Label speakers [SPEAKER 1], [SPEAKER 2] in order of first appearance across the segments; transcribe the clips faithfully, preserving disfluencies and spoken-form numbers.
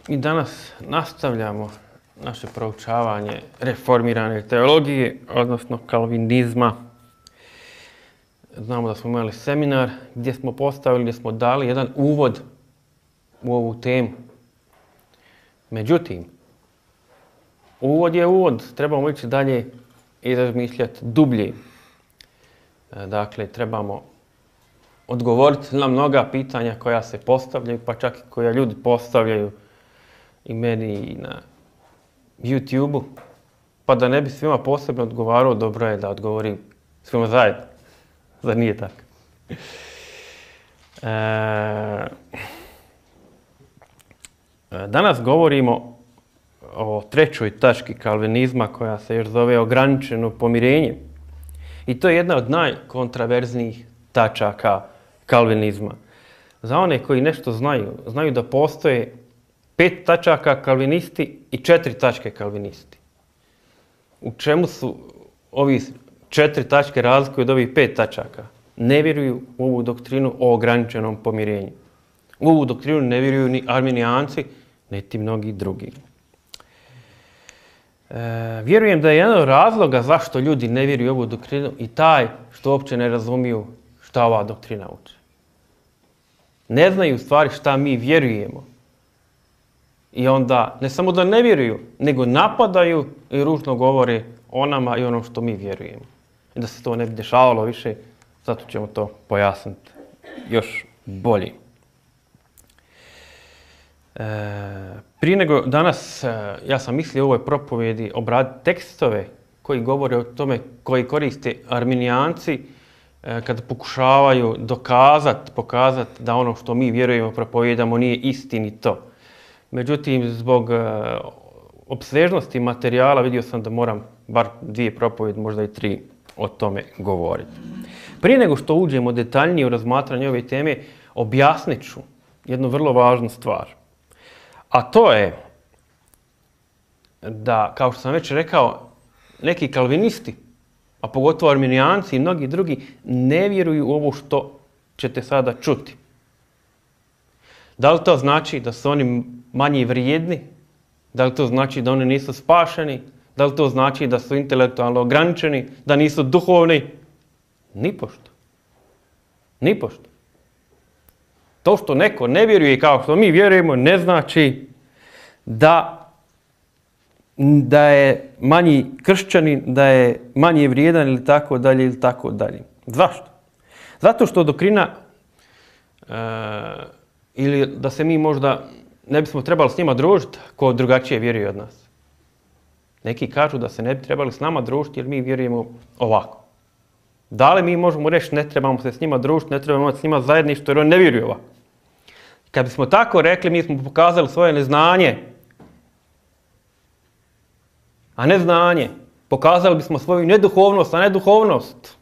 [SPEAKER 1] I danas nastavljamo naše proučavanje reformirane teologije, odnosno kalvinizma. Znamo da smo imali seminar gdje smo postavili, gdje smo dali jedan uvod u ovu temu. Međutim, uvod je uvod, trebamo ići dalje i razmišljati dublje. Dakle, trebamo odgovoriti na mnoga pitanja koja se postavljaju, pa čak i koja ljudi postavljaju i meni i na YouTube-u. Pa da ne bi svima posebno odgovarao, dobro je da odgovorim svima zajedno. Zar nije tako? E, danas govorimo o trećoj tački kalvinizma koja se još zove ograničeno pomirenje. I to je jedna od najkontraverznijih tačaka kalvinizma. Za one koji nešto znaju, znaju da postoje pet tačaka kalvinisti i četiri tačke kalvinisti. U čemu su ovi četiri tačke razlikuju od ovih pet tačaka? Ne vjeruju u ovu doktrinu o ograničenom pomirenju. U ovu doktrinu ne vjeruju ni arminijanci, niti mnogi drugi. E, vjerujem da je jedan od razloga zašto ljudi ne vjeruju u ovu doktrinu i taj što uopće ne razumiju šta ova doktrina uči. Ne znaju u stvari šta mi vjerujemo. I onda ne samo da ne vjeruju, nego napadaju i ružno govore o nama i onom što mi vjerujemo. I da se to ne bi dešavalo više, zato ćemo to pojasniti još bolje. E, prije nego danas, ja sam mislio u ovoj propovjedi obraditi tekstove koji govore o tome koji koriste arminijanci e, kada pokušavaju dokazati, pokazati da ono što mi vjerujemo, propovijedamo nije istinito. Međutim, zbog e, opsežnosti materijala vidio sam da moram bar dvije propovjedi, možda i tri, o tome govoriti. Prije nego što uđemo detaljnije u razmatranje ove teme, objasnit ću jednu vrlo važnu stvar. A to je da, kao što sam već rekao, neki kalvinisti, a pogotovo arminijanci i mnogi drugi, ne vjeruju u ovo što ćete sada čuti. Da li to znači da su oni manje vrijedni? Da li to znači da oni nisu spašeni? Da li to znači da su intelektualno ograničeni? Da nisu duhovni? Nipošto. Nipošto. To što neko ne vjeruje kao što mi vjerujemo ne znači da, da je manji kršćanin, da je manje vrijedan ili tako dalje ili tako dalje. Zašto? Zato što doktrina e, ili da se mi možda ne bismo trebali s njima družiti ko drugačije vjeruje od nas. Neki kažu da se ne bi trebali s nama družiti jer mi vjerujemo ovako. Da li mi možemo reći ne trebamo se s njima družiti, ne trebamo imati s njima zajedništvo jer oni ne vjeruju ovako. Kad bismo tako rekli, mi smo pokazali svoje neznanje, a ne znanje. Pokazali bismo svoju neduhovnost, a ne duhovnost.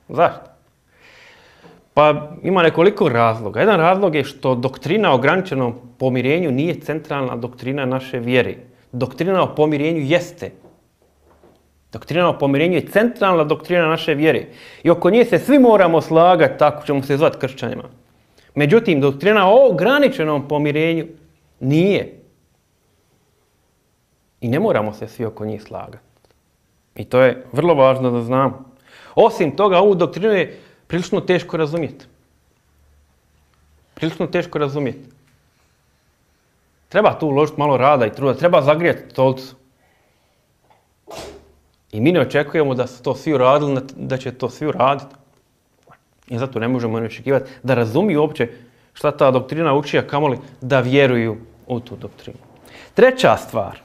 [SPEAKER 1] Zašto? Pa ima nekoliko razloga. Jedan razlog je što doktrina o ograničenom pomirenju nije centralna doktrina naše vjere. Doktrina o pomirenju jeste. Doktrina o pomirenju je centralna doktrina naše vjere. I oko nje se svi moramo slagati, tako ćemo se zvati kršćanima. Međutim, doktrina o ograničenom pomirenju nije. I ne moramo se svi oko njih slagati. I to je vrlo važno da znamo. Osim toga, ovu doktrinu je prilično teško razumjeti. Prilično teško razumjeti. Treba tu uložiti malo rada i truda. Treba zagrijati stolicu. I mi ne očekujemo da su to svi uradili, da će to svi uraditi. I zato ne možemo ne očekivati da razumiju uopće šta ta doktrina uči, a kamoli da vjeruju u tu doktrinu. Treća stvar.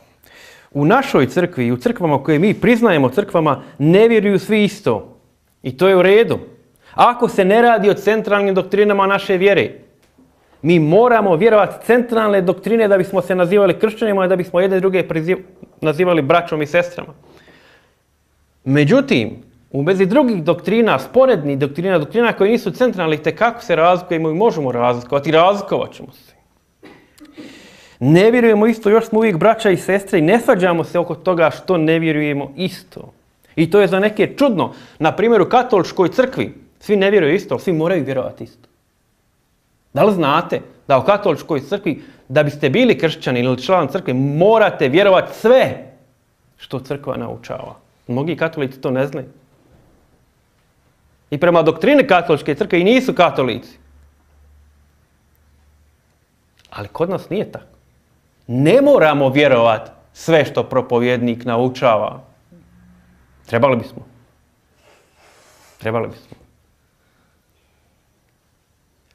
[SPEAKER 1] U našoj crkvi i u crkvama koje mi priznajemo crkvama ne vjeruju svi isto. I to je u redu. Ako se ne radi o centralnim doktrinama naše vjere, mi moramo vjerovati centralne doktrine da bismo se nazivali kršćanima i da bismo jedne druge nazivali braćom i sestrama. Međutim, u vezi drugih doktrina, sporednih doktrina, doktrina koje nisu centralne, itekako se razlikujemo i možemo razlikovati i razlikovat ćemo se. Ne vjerujemo isto, još smo uvijek braća i sestre i ne svađamo se oko toga što ne vjerujemo isto. I to je za neke čudno. Na primjer, u katoličkoj crkvi svi ne vjeruju isto, ali svi moraju vjerovati isto. Da li znate da u katoličkoj crkvi, da biste bili kršćani ili član crkve, morate vjerovati sve što crkva naučava. Mnogi katolici to ne znaju. I prema doktrini katoličke crkve i nisu katolici. Ali kod nas nije tako. Ne moramo vjerovati sve što propovjednik naučava. Trebali bismo. Trebali bismo.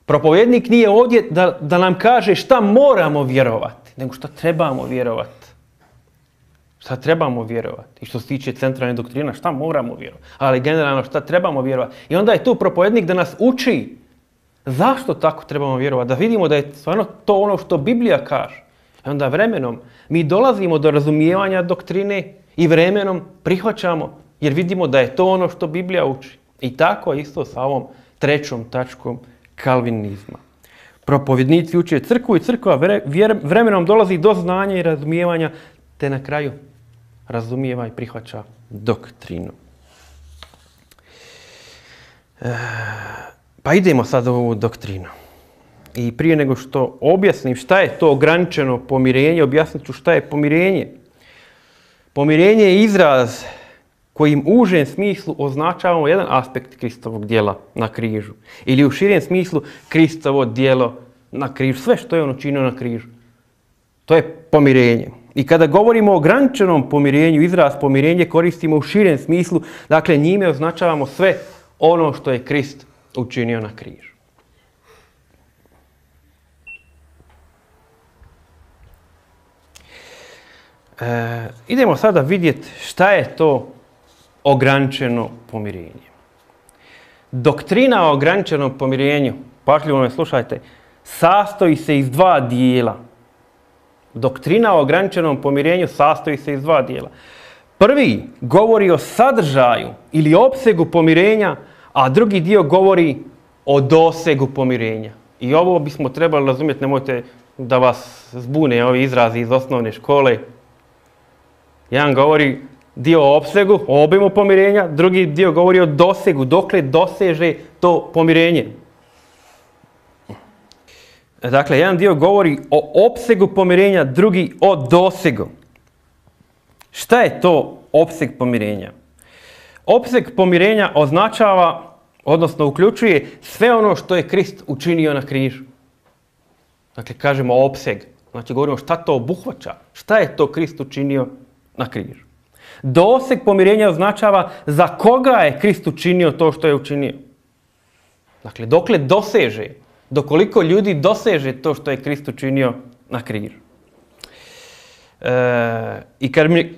[SPEAKER 1] Propovjednik nije ovdje da, da nam kaže šta moramo vjerovati, nego šta trebamo vjerovati. Šta trebamo vjerovati. I što se tiče centralne doktrina, šta moramo vjerovati. Ali generalno šta trebamo vjerovati. I onda je tu propovjednik da nas uči zašto tako trebamo vjerovati. Da vidimo da je stvarno to ono što Biblija kaže. I onda vremenom mi dolazimo do razumijevanja doktrine i vremenom prihvaćamo jer vidimo da je to ono što Biblija uči. I tako isto sa ovom trećom tačkom kalvinizma. Propovjednici uče crkvu i crkva vremenom dolazi do znanja i razumijevanja te na kraju razumijeva i prihvaća doktrinu. E, pa idemo sad u ovu doktrinu. I prije nego što objasnim šta je to ograničeno pomirenje, objasnit ću šta je pomirenje. Pomirenje je izraz kojim u užem smislu označavamo jedan aspekt Kristovog djela na križu. Ili u širem smislu Kristovo djelo na križu. Sve što je on učinio na križu. To je pomirenje. I kada govorimo o ograničenom pomirenju, izraz pomirenje koristimo u širem smislu, dakle njime označavamo sve ono što je Krist učinio na križu. E, idemo sada vidjeti šta je to ograničeno pomirenje. Doktrina o ograničenom pomirenju, pažljivo me slušajte, sastoji se iz dva dijela. Doktrina o ograničenom pomirenju sastoji se iz dva dijela. Prvi govori o sadržaju ili opsegu pomirenja, a drugi dio govori o dosegu pomirenja. I ovo bismo trebali razumjeti, nemojte da vas zbune ovi izrazi iz osnovne škole. Jedan govori dio o opsegu, o obimu pomirenja, drugi dio govori o dosegu, dokle doseže to pomirenje. Dakle, jedan dio govori o opsegu pomirenja, drugi o dosegu. Šta je to opseg pomirenja? Opseg pomirenja označava, odnosno uključuje sve ono što je Krist učinio na križu. Dakle, kažemo opseg. Znači, govorimo šta to obuhvaća. Šta je to Krist učinio na križu. Doseg pomirenja označava za koga je Krist učinio to što je učinio. Dakle, dokle doseže, dokoliko ljudi doseže to što je Krist učinio na križu. E, I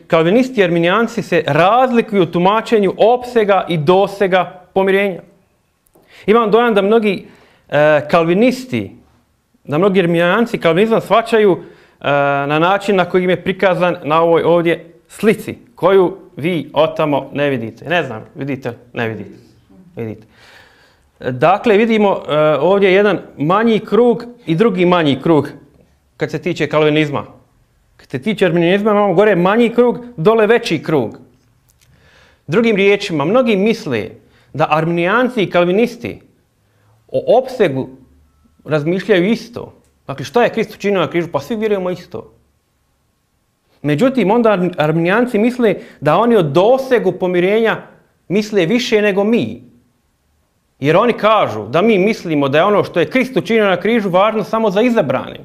[SPEAKER 1] kalvinisti i arminijanci se razlikuju u tumačenju opsega i dosega pomirenja. Imam dojam da mnogi e, kalvinisti, da mnogi arminijanci kalvinizam shvaćaju e, na način na koji im je prikazan na ovoj ovdje slici, koju vi otamo ne vidite. Ne znam, vidite, ne vidite. Vidite. Dakle, vidimo uh, ovdje jedan manji krug i drugi manji krug kad se tiče kalvinizma. Kad se tiče arminijanizma, imamo gore manji krug, dole veći krug. Drugim riječima, mnogi misle da arminijanci i kalvinisti o opsegu razmišljaju isto. Dakle, šta je Krist učinio na križu? Pa svi vjerujemo isto. Međutim, onda arminijanci misle da oni o dosegu pomirenja misle više nego mi. Jer oni kažu da mi mislimo da je ono što je Krist učinio na križu važno samo za izabrane.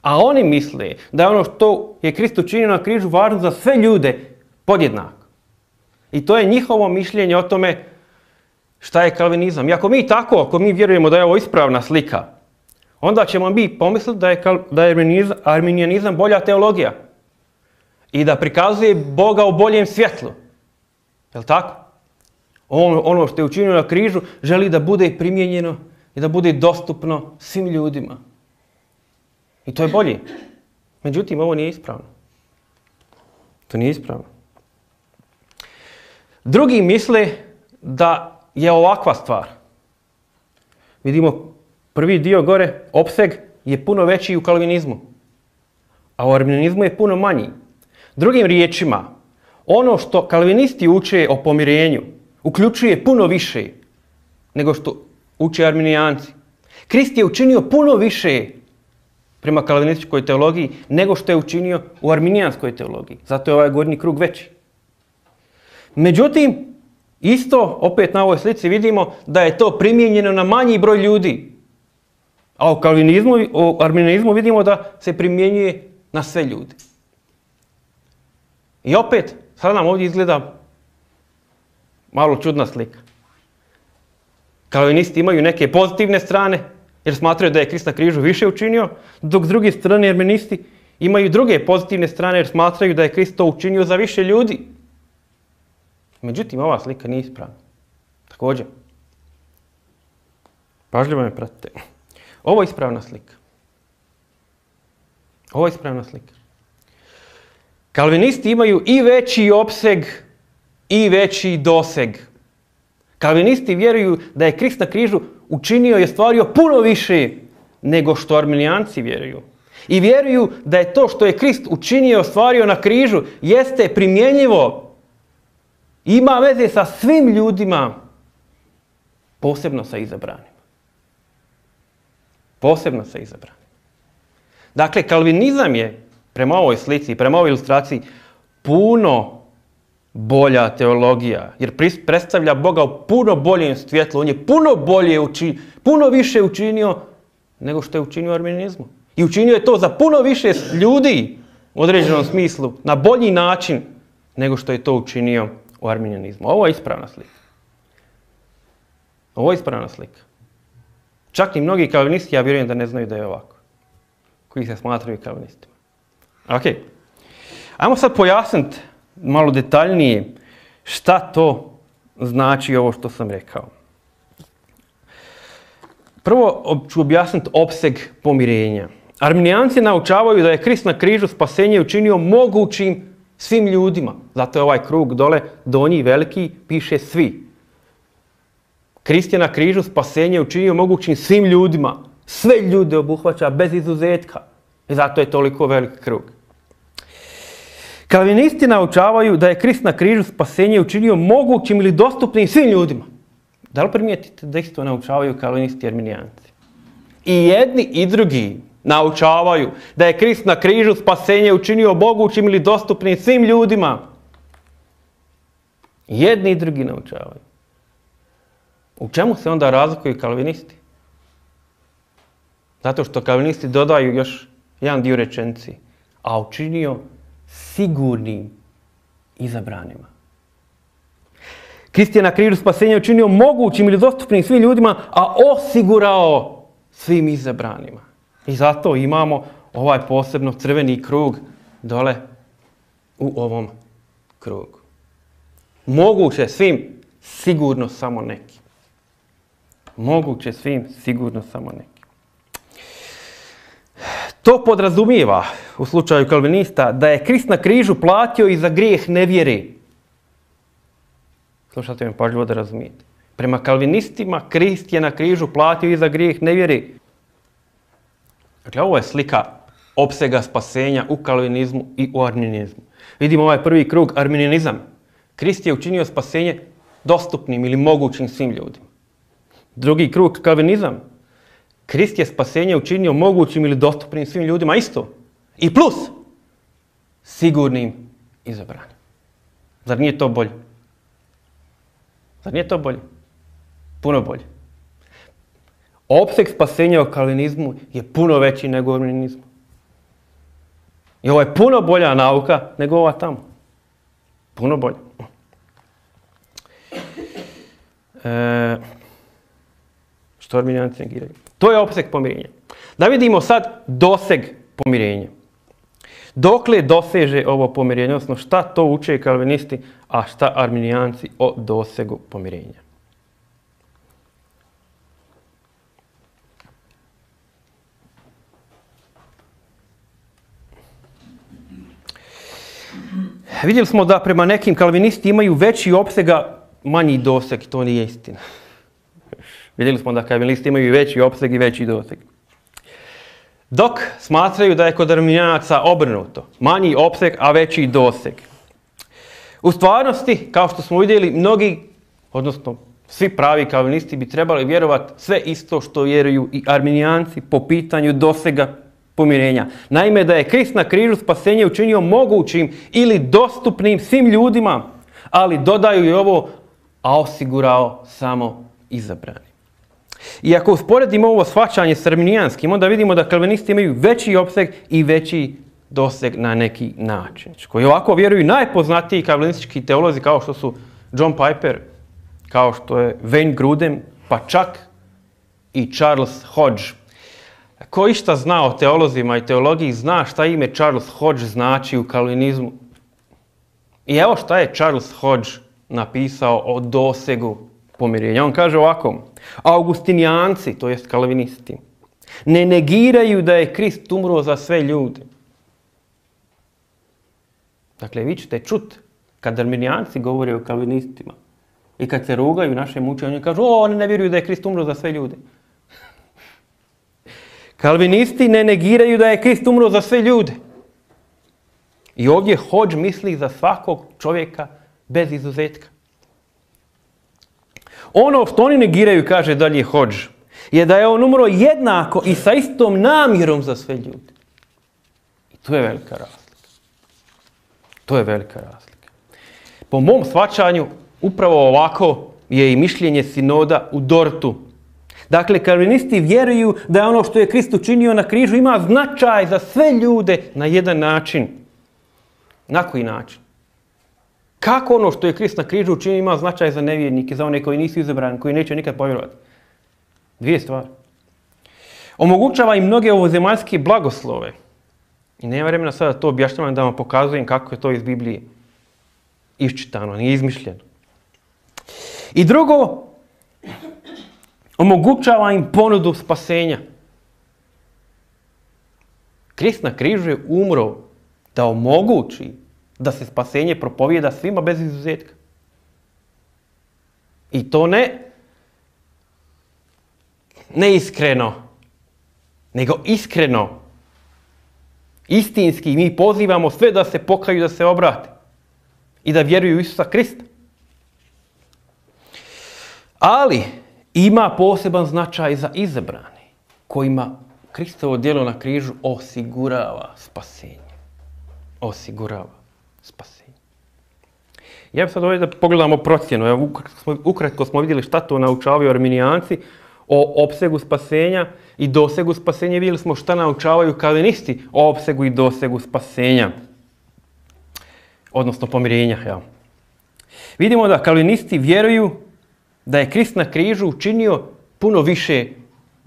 [SPEAKER 1] A oni misle da je ono što je Krist učinio na križu važno za sve ljude podjednako. I to je njihovo mišljenje o tome šta je kalvinizam. I ako mi tako, ako mi vjerujemo da je ovo ispravna slika, onda ćemo mi pomisliti da je, da je arminijanizam bolja teologija. I da prikazuje Boga u boljem svjetlu. Je li tako? On, ono što je učinio na križu želi da bude primijenjeno i da bude dostupno svim ljudima. I to je bolje. Međutim, ovo nije ispravno. To nije ispravno. Drugi misle da je ovakva stvar. Vidimo prvi dio gore, opseg je puno veći u kalvinizmu. A u arminijanizmu je puno manji. Drugim riječima, ono što kalvinisti uče o pomirenju uključuje puno više nego što uče arminijanci. Krist je učinio puno više prema kalvinističkoj teologiji nego što je učinio u arminijanskoj teologiji. Zato je ovaj gornji krug veći. Međutim, isto opet na ovoj slici vidimo da je to primijenjeno na manji broj ljudi. A u kalvinizmu, u arminijanizmu vidimo da se primjenjuje na sve ljude. I opet, sada nam ovdje izgleda malo čudna slika. Kalvinisti imaju neke pozitivne strane, jer smatraju da je Krist na križu više učinio, dok s druge strane arministi imaju druge pozitivne strane, jer smatraju da je Krist to učinio za više ljudi. Međutim, ova slika nije ispravna. Također, pažljivo me pratite. Ovo je ispravna slika. Ovo je ispravna slika. Kalvinisti imaju i veći opseg i veći doseg. Kalvinisti vjeruju da je Krist na križu učinio i ostvario puno više nego što arminijanci vjeruju. I vjeruju da je to što je Krist učinio i ostvario na križu jeste primjenjivo. Ima veze sa svim ljudima, posebno sa izabranima. Posebno sa izabranima. Dakle, kalvinizam je, prema ovoj slici, prema ovoj ilustraciji, puno bolja teologija, jer predstavlja Boga u puno boljem svjetlu. On je puno bolje učinio, puno više učinio nego što je učinio u arminijanizmu. I učinio je to za puno više ljudi u određenom smislu, na bolji način nego što je to učinio u arminijanizmu. Ovo je ispravna slika. Ovo je ispravna slika. Čak i mnogi kalvinisti, ja vjerujem da ne znaju da je ovako, koji se smatraju kalvinistima. Ok. Ajmo sad pojasniti malo detaljnije šta to znači ovo što sam rekao. Prvo ću objasniti opseg pomirenja. Arminijanci naučavaju da je Krist na križu spasenje učinio mogućim svim ljudima. Zato je ovaj krug dole, donji, veliki, piše svi. Krist je na križu spasenje učinio mogućim svim ljudima. Sve ljude obuhvaća bez izuzetka. I zato je toliko veliki krug. Kalvinisti naučavaju da je Krist na križu spasenje učinio mogućim ili dostupnim svim ljudima. Da li primijetite da isto naučavaju kalvinisti i arminijanci? I jedni i drugi naučavaju da je Krist na križu spasenje učinio mogućim ili dostupnim svim ljudima. Jedni i drugi naučavaju. U čemu se onda razlikuju kalvinisti? Zato što kalvinisti dodaju još jedan dio rečenici. A učinio sigurnim izabranima. Krist je na križu spasenja učinio mogućim ili dostupnim svim ljudima, a osigurao svim izabranima. I zato imamo ovaj posebno crveni krug dole u ovom krugu. Moguće svim, sigurno samo neki. Moguće svim, sigurno samo neki. To podrazumijeva, u slučaju kalvinista, da je Krist na križu platio i za grijeh nevjere. Slušajte me pažljivo da razumijete. Prema kalvinistima, Krist je na križu platio i za grijeh nevjere. Dakle, ovo je slika opsega spasenja u kalvinizmu i u arminijanizmu. Vidimo ovaj prvi krug, arminijanizam. Krist je učinio spasenje dostupnim ili mogućim svim ljudima. Drugi krug, kalvinizam. Krist je spasenje učinio mogućim ili dostupnim svim ljudima isto. I plus, sigurnim izabranim. Zar nije to bolje? Zar nije to bolje? Puno bolje. Opseg spasenja u kalvinizmu je puno veći nego u arminijanizmu. I ovo je puno bolja nauka nego ova tamo. Puno bolje. E, što arminijanci negiraju? To je opseg pomirenja. Da vidimo sad doseg pomirenja. Dokle doseže ovo pomirenje, odnosno šta to uče kalvinisti, a šta arminijanci o dosegu pomirenja. Vidjeli smo da prema nekim kalvinisti imaju veći opsega, manji doseg, to nije istina. Vidjeli smo da kalvinisti imaju veći opseg i veći doseg. Dok smatraju da je kod arminijanaca obrnuto. Manji opseg, a veći doseg. U stvarnosti, kao što smo vidjeli, mnogi, odnosno Svi pravi kalvinisti bi trebali vjerovati sve isto što vjeruju i arminijanci po pitanju dosega pomirenja. Naime, da je Krist na križu spasenje učinio mogućim ili dostupnim svim ljudima, ali dodaju i ovo, a osigurao samo izabrani. I ako usporedimo ovo shvaćanje s arminijanskim, onda vidimo da kalvinisti imaju veći opseg i veći doseg na neki način. Koji ovako vjeruju najpoznatiji kalvinistički teolozi kao što su John Piper, kao što je Wayne Grudem, pa čak i Charles Hodge. Ko išta zna o teolozima i teologiji, zna šta ime Charles Hodge znači u kalvinizmu. I evo šta je Charles Hodge napisao o dosegu pomirenja. On kaže ovako: Augustinijanci, to jest kalvinisti, ne negiraju da je Krist umro za sve ljude. Dakle, vi ćete čuti kad arminijanci govore o kalvinistima i kad se rugaju našem učenju, oni kažu, o, oni ne vjeruju da je Krist umro za sve ljude. Kalvinisti ne negiraju da je Krist umro za sve ljude. I ovdje Hodge misli za svakog čovjeka bez izuzetka. Ono što oni negiraju, kaže dalje Hodge, je da je on umro jednako i sa istom namjerom za sve ljude. I tu je velika razlika. To je velika razlika. Po mom shvaćanju, upravo ovako je i mišljenje sinoda u Dortu. Dakle, kalvinisti vjeruju da je ono što je Krist učinio na križu ima značaj za sve ljude na jedan način. Na koji način? Kako ono što je Krist na križu učinio ima značaj za nevjernike, za one koji nisu izabrani, koji neće nikad povjerovati? Dvije stvari. Omogućava im mnoge ovozemaljske blagoslove. I nema vremena sada to objašnjavam da vam pokazujem kako je to iz Biblije iščitano, nije izmišljeno. I drugo, omogućava im ponudu spasenja. Krist na križu je umro da omogući da se spasenje propovijeda svima bez izuzetka. I to ne neiskreno, nego iskreno. Istinski mi pozivamo sve da se pokaju, da se obrate i da vjeruju u Isusa Krista. Ali ima poseban značaj za izabrane, kojima Kristovo djelo na križu osigurava spasenje. Osigurava spasenje. Ja bih sad ovdje da pogledamo procjenu. Evo, ukratko smo vidjeli šta to naučavaju arminijanci o opsegu spasenja i dosegu spasenja. Vidjeli smo šta naučavaju kalvinisti o opsegu i dosegu spasenja. Odnosno pomirenja. Ja. Vidimo da kalvinisti vjeruju da je Krist na križu učinio puno više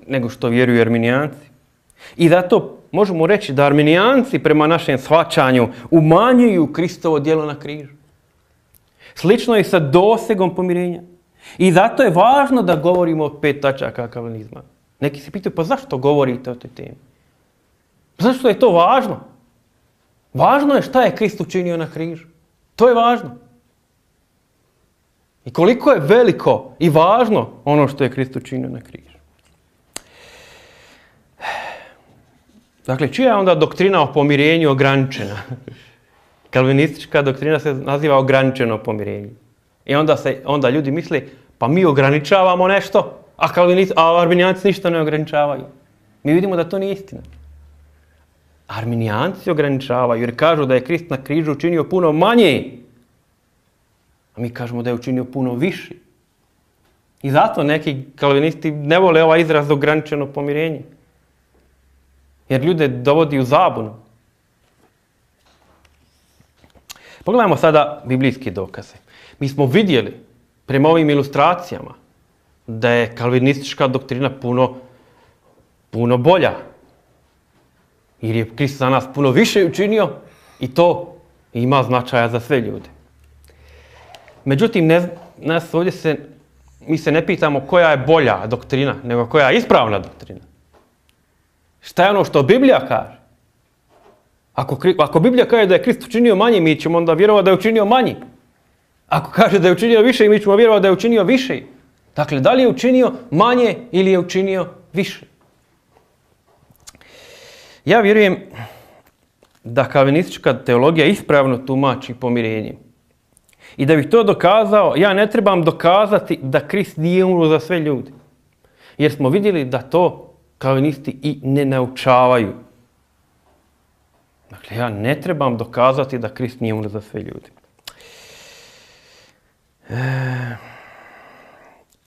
[SPEAKER 1] nego što vjeruju arminijanci. I zato možemo reći da arminijanci prema našem shvaćanju umanjuju Kristovo djelo na križu. Slično je sa dosegom pomirenja. I zato je važno da govorimo o pet tačaka kalvinizma. Neki se pitaju, pa zašto govorite o toj temi? Zašto je to važno? Važno je šta je Krist učinio na križu. To je važno. I koliko je veliko i važno ono što je Krist učinio na križu. Dakle, čija je onda doktrina o pomirenju ograničena? Kalvinistička doktrina se naziva ograničeno pomirenje. I onda, se, onda ljudi misle, pa mi ograničavamo nešto, a, a arminijanci ništa ne ograničavaju. Mi vidimo da to nije istina. Arminijanci ograničavaju jer kažu da je Krist na križu učinio puno manje. A mi kažemo da je učinio puno više. I zato neki kalvinisti ne vole ovaj izraz ograničeno pomirenje. Jer ljude dovodi u zabunu. Pogledajmo sada biblijske dokaze. Mi smo vidjeli prema ovim ilustracijama da je kalvinistička doktrina puno, puno bolja. Jer je Krist za nas puno više učinio i to ima značaja za sve ljude. Međutim, ne, nas ovdje se, mi se ne pitamo koja je bolja doktrina, nego koja je ispravna doktrina. Šta je ono što Biblija kaže? Ako, ako Biblija kaže da je Krist učinio manje, mi ćemo onda vjerovati da je učinio manje. Ako kaže da je učinio više, mi ćemo vjerovati da je učinio više. Dakle, da li je učinio manje ili je učinio više? Ja vjerujem da kalvinistička teologija ispravno tumači pomirenje. I da bih to dokazao, ja ne trebam dokazati da Krist nije umro za sve ljude. Jer smo vidjeli da to kalvinisti i ne naučavaju. Dakle, ja ne trebam dokazati da Krist nije umro za sve ljude. E...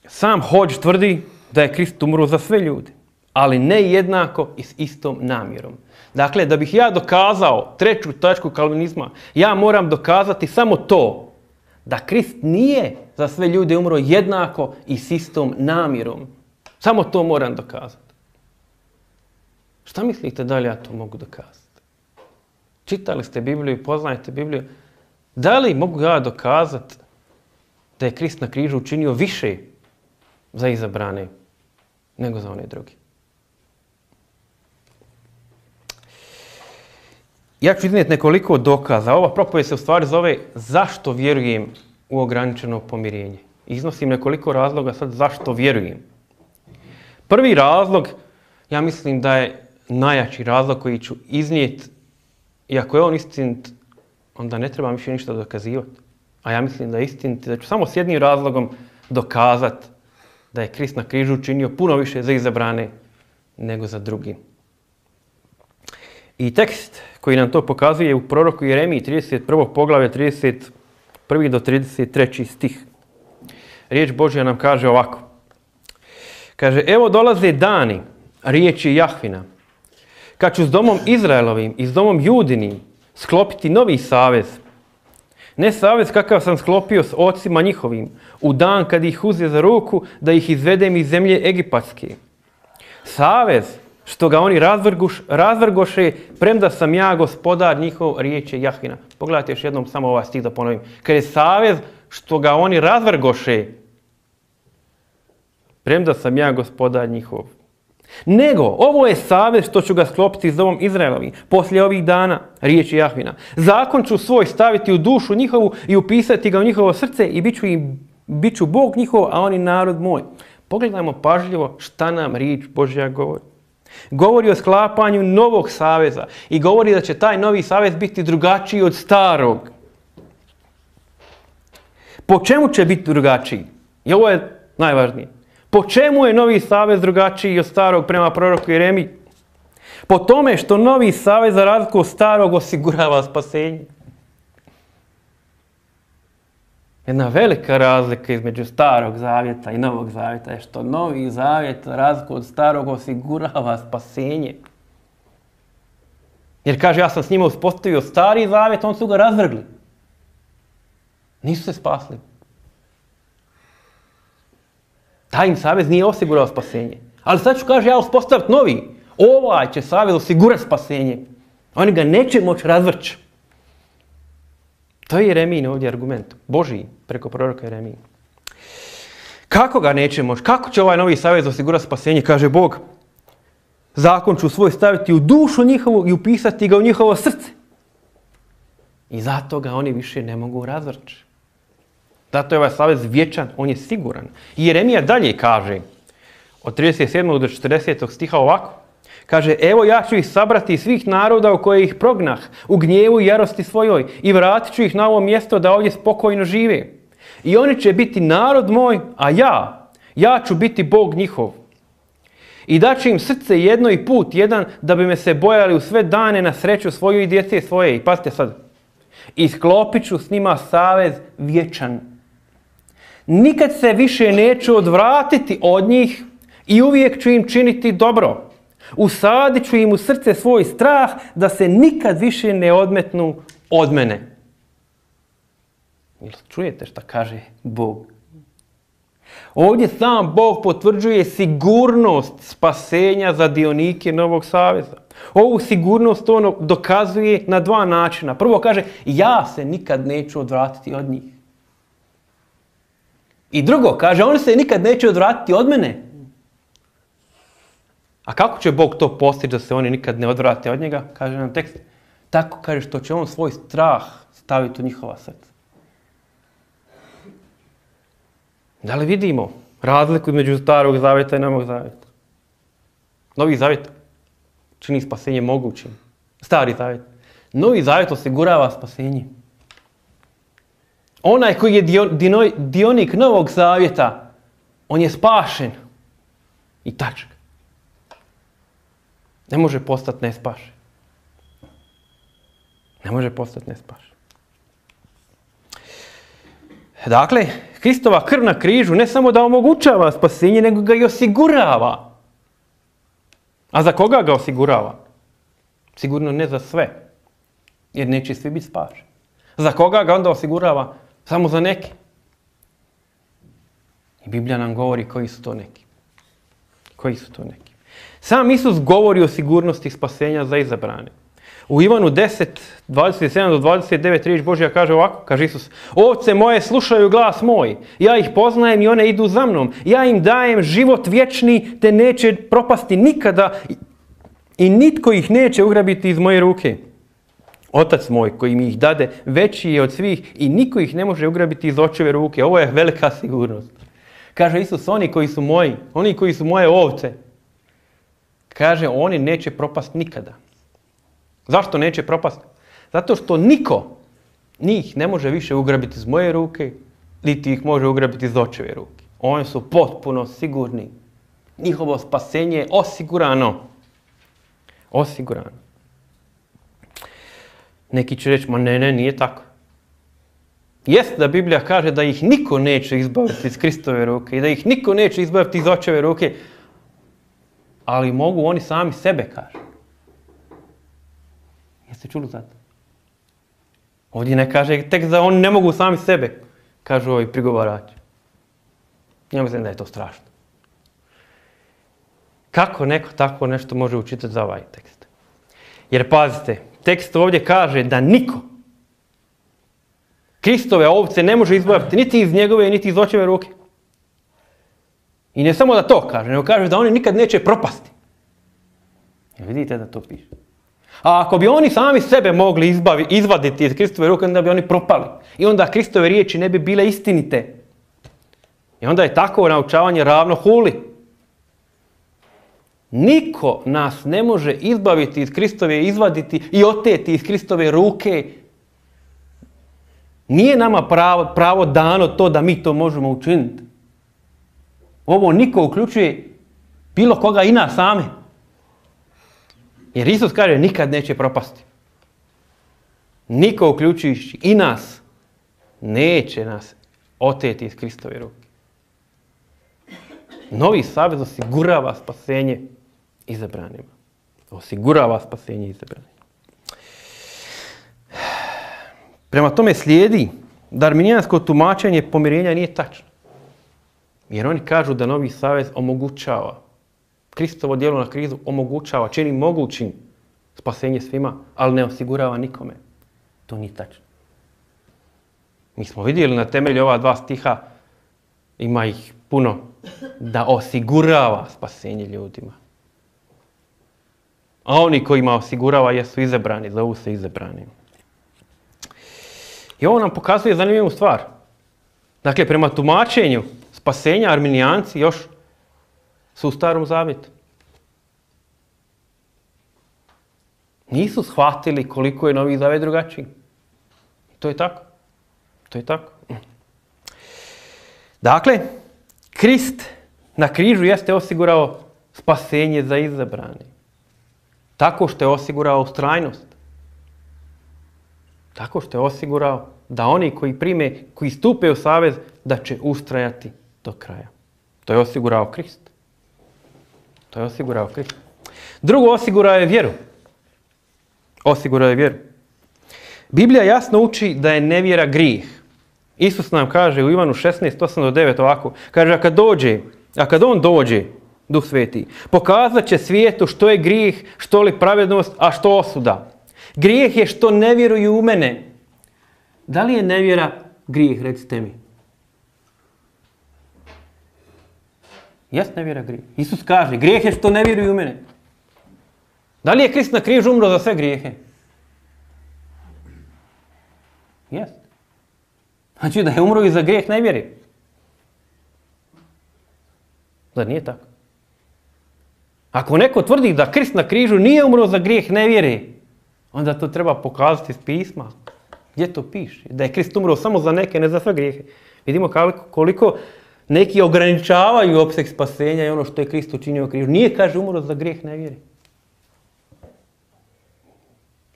[SPEAKER 1] Sam Hodge tvrdi da je Krist umro za sve ljude, ali ne jednako i s istom namjerom. Dakle, da bih ja dokazao treću tačku kalvinizma, ja moram dokazati samo to, da Krist nije za sve ljude umro jednako i s istom namjerom. Samo to moram dokazati. Šta mislite da li ja to mogu dokazati? Čitali ste Bibliju, poznajete Bibliju. Da li mogu ja dokazati da je Krist na križu učinio više za izabrane nego za one drugi? Ja ću iznijeti nekoliko dokaza. Ova propovijed se u stvari zove zašto vjerujem u ograničeno pomirenje. Iznosim nekoliko razloga sad zašto vjerujem. Prvi razlog, ja mislim da je najjači razlog koji ću iznijeti, i ako je on istinit, onda ne trebam više ništa dokazivati. A ja mislim da je istinit, da ću samo s jednim razlogom dokazati da je Krist na križu učinio puno više za izabrane nego za drugi. I tekst koji nam to pokazuje u proroku Jeremiji trideset prvo poglavlje trideset prvi do trideset treći stih. Riječ Božja nam kaže ovako. Kaže, evo dolaze dani, riječi Jahvina, kad ću s domom Izraelovim i s domom Judinim sklopiti novi savez. Ne savez kakav sam sklopio s ocima njihovim, u dan kad ih uzme za ruku da ih izvedem iz zemlje Egipatske. Savez što ga oni razvrguš, razvrgoše, premda sam ja gospodar njihov, riječi Jahvina. Pogledajte još jednom samo ovaj stih da ponovim. Kad je savez što ga oni razvrgoše, premda sam ja gospodar njihov. Nego, ovo je savez što ću ga sklopiti s domom Izraelovim. Poslije ovih dana, riječi Jahvina, zakon ću svoj staviti u dušu njihovu i upisati ga u njihovo srce i bit ću, im, bit ću Bog njihov, a oni narod moj. Pogledajmo pažljivo šta nam riječ Božja govori. Govori o sklapanju novog saveza i govori da će taj novi savez biti drugačiji od starog. Po čemu će biti drugačiji? I ovo je najvažnije. Po čemu je novi savez drugačiji od starog prema proroku Jeremiji? Po tome što novi savez za razliku od starog osigurava spasenje. Jedna velika razlika između starog zavjeta i novog zavjeta je što novi zavjet za razliku od starog osigurava spasenje. Jer kaže, ja sam s njima uspostavio stari zavjet, on su ga razvrgli. Nisu se spasli. Taj im savez nije osigurao spasenje. Ali sad ću, kaže, ja uspostaviti novi. Ovaj će savez osigurati spasenje. Oni ga neće moći razvrći. To je Jeremijin ovdje argument. Božiji, preko proroka Jeremije. Kako ga neće moći? Kako će ovaj novi savez osigurati spasenje? Kaže Bog, zakon ću svoj staviti u dušu njihovu i upisati ga u njihovo srce. I zato ga oni više ne mogu razvrći. Zato je ovaj savez vječan, on je siguran. I Jeremija dalje kaže, od trideset sedmog do četrdesetog stiha ovako. Kaže, evo ja ću ih sabrati iz svih naroda u koje ih prognah, u gnjevu i jarosti svojoj, i vratit ću ih na ovo mjesto da ovdje spokojno žive. I oni će biti narod moj, a ja, ja ću biti Bog njihov. I daću im srce jedno i put jedan, da bi me se bojali u sve dane na sreću svoju i djece svoje. I pazite sad, i sklopit ću s njima savez vječan. Nikad se više neću odvratiti od njih i uvijek ću im činiti dobro. Usadit ću im u srce svoj strah da se nikad više ne odmetnu od mene. Čujete šta kaže Bog? Ovdje sam Bog potvrđuje sigurnost spasenja za dionike Novog saveza. Ovu sigurnost on dokazuje na dva načina. Prvo kaže, ja se nikad neću odvratiti od njih. I drugo, kaže, oni se nikad neće odvratiti od mene. A kako će Bog to postići da se oni nikad ne odvrate od njega? Kaže nam tekst. Tako kaže što će on svoj strah staviti u njihova srca. Da li vidimo razliku između starog zavjeta i novog zavjeta? Novi zavjet čini spasenje mogućim. Stari zavjet. Novi zavjet osigurava spasenje. Onaj koji je dio, dio, dionik Novog Zavjeta, on je spašen. I tačka. Ne može postati nespašen. Ne može postati nespašen. Dakle, Kristova krv na križu ne samo da omogućava spasenje, nego ga i osigurava. A za koga ga osigurava? Sigurno ne za sve, jer neće svi biti spašeni. Za koga ga onda osigurava? Samo za neki. I Biblija nam govori koji su to neki. Koji su to neki. Sam Isus govori o sigurnosti spasenja za izabrane. U Ivanu deset, dvadeset sedam do dvadeset devet riječ Božja kaže ovako, kaže Isus: ovce moje slušaju glas moj, ja ih poznajem i one idu za mnom, ja im dajem život vječni, te neće propasti nikada i nitko ih neće ugrabiti iz moje ruke. Otac moj koji mi ih dade veći je od svih i niko ih ne može ugrabiti iz očeve ruke. Ovo je velika sigurnost. Kaže Isus, oni koji su moji, oni koji su moje ovce, kaže, oni neće propasti nikada. Zašto neće propasti? Zato što niko njih ne može više ugrabiti iz moje ruke, niti ih može ugrabiti iz očeve ruke. Oni su potpuno sigurni. Njihovo spasenje je osigurano. Osigurano. Neki će reći, ma ne, ne, nije tako. Jest da Biblija kaže da ih niko neće izbaviti iz Kristove ruke i da ih niko neće izbaviti iz očeve ruke, ali mogu oni sami sebe, kaže. Jeste čuli za to? Ovdje ne kaže tek da oni ne mogu sami sebe, kažu ovi prigovarači. Ja mislim da je to strašno. Kako neko tako nešto može učitati za ovaj tekst? Jer pazite, tekst ovdje kaže da niko Kristove ovce ne može izbaviti niti iz njegove, niti iz očeve ruke. I ne samo da to kaže, nego kaže da oni nikad neće propasti. Jer vidite da to piše. A ako bi oni sami sebe mogli izbavi, izvaditi iz Kristove ruke, onda bi oni propali. I onda Kristove riječi ne bi bile istinite. I onda je takvo naučavanje ravno huli. Niko nas ne može izbaviti iz Kristove, izvaditi i oteti iz Kristove ruke. Nije nama pravo, pravo dano to da mi to možemo učiniti. Ovo niko uključuje bilo koga i nas same. Jer Isus kaže nikad neće propasti. Niko uključujući i nas neće nas oteti iz Kristove ruke. Novi savez osigurava spasenje izabranima. Osigurava spasenje izabranima. Prema tome slijedi da arminijansko tumačenje pomirenja nije tačno. Jer oni kažu da novi savez omogućava, Kristovo djelo na krizu omogućava, čini mogućim spasenje svima, ali ne osigurava nikome. To nije tačno. Mi smo vidjeli na temelju ova dva stiha, ima ih puno, da osigurava spasenje ljudima. A oni kojima osigurava jesu izabrani, zovu se izabrani. I ovo nam pokazuje zanimljivu stvar. Dakle, prema tumačenju spasenja arminijanci još su u Starom Zavjetu. Nisu shvatili koliko je Novi Zavjet drugačiji. To je tako. To je tako. Dakle, Krist na križu jeste osigurao spasenje za izabrane. Tako što je osigurao ustrajnost. Tako što je osigurao da oni koji prime, koji stupe u savez, da će ustrajati do kraja. To je osigurao Krist. To je osigurao Krist. Drugo, osigurao je vjeru. Osigurao je vjeru. Biblija jasno uči da je nevjera grijeh. Isus nam kaže u Ivanu šesnaest, osam do devet ovako. Kaže, a kad dođe, a kad on dođe, Duh Sveti, pokazat će svijetu što je grijeh, što li pravednost, a što osuda. Grijeh je što ne vjeruju u mene. Da li je nevjera grijeh, recite mi? Jest nevjera grijeh. Isus kaže, grijeh je što ne vjeruju u mene. Da li je Krist na križu umro za sve grijehe? Jest. Znači da je umro i za grijeh nevjere. Zar nije tako? Ako neko tvrdi da Krist na križu nije umro za grijeh nevjere, onda to treba pokazati iz pisma. Gdje to piše? Da je Krist umro samo za neke, ne za sve grijehe. Vidimo koliko, koliko neki ograničavaju opseg spasenja i ono što je Krist učinio križu. Nije, kaže, umro za grijeh nevjere.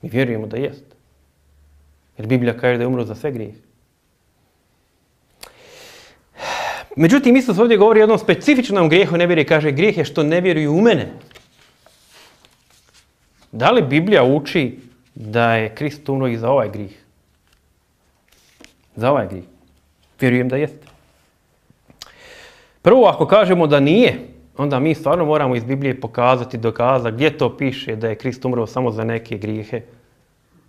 [SPEAKER 1] Mi vjerujemo da jest. Jer Biblija kaže da je umro za sve grijehe. Međutim, Isus ovdje govori o jednom specifičnom grijehu nevjere. Kaže, grijeh je što ne vjeruju u mene. Da li Biblija uči da je Krist umro i za ovaj grijeh? Za ovaj grijeh. Vjerujem da jeste. Prvo, ako kažemo da nije, onda mi stvarno moramo iz Biblije pokazati, dokazati gdje to piše da je Krist umro samo za neke grijehe